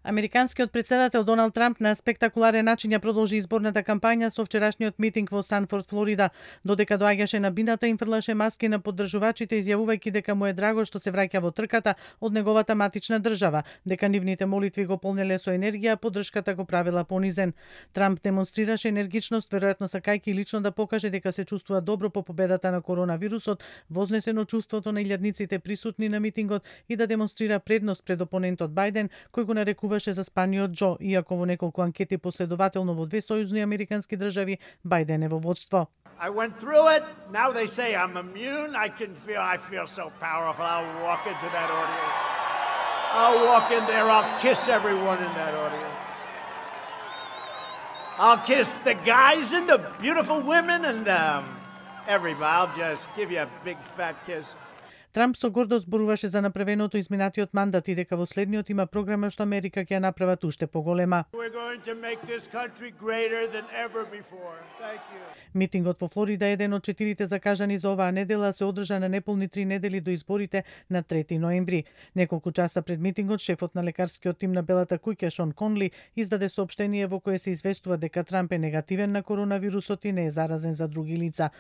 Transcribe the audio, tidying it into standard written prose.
Американскиот председател Доналд Трамп на спектакуларен начин ја продолжи изборната кампања со вчерашниот митинг во Санфорд, Флорида. Додека доаѓаше на бината, им фрлаше маски на поддржувачите, изјавувајќи дека му е драго што се враќа во трката од неговата матична држава, дека нивните молитви го полнеле со енергија, а поддршката го правила понизен. Трамп демонстрираше енергичност, веројатно сакајќи лично да покаже дека се чувствува добро по победата на коронавирусот, вознесено чувството на илјадниците присутни на митингот и да демонстрира предност пред опонентот Бајден, кој го нарекуваше за спаниот Џо, иако во неколку анкети последователно во две сојузни американски држави Бајден е во водство. I went through it. Now they say I'm immune. I feel so powerful. I'll walk into that audience. I'll walk in there. I'll kiss everyone in that audience. I'll kiss the guys and the beautiful women and everybody. I'll just give you a big fat kiss. Трамп со гордост зборуваше за направеното изминатиот мандат и дека во следниот има програма што Америка ќе ја направат уште поголема. Митингот во Флорида е еден од 4 закажани за оваа недела, се одржа на неполни 3 недели до изборите на 3 ноември. Неколку часа пред митингот, шефот на лекарскиот тим на Белата куќа Шон Конли издаде соопштение во кое се известува дека Трамп е негативен на коронавирусот и не е заразен за други лица.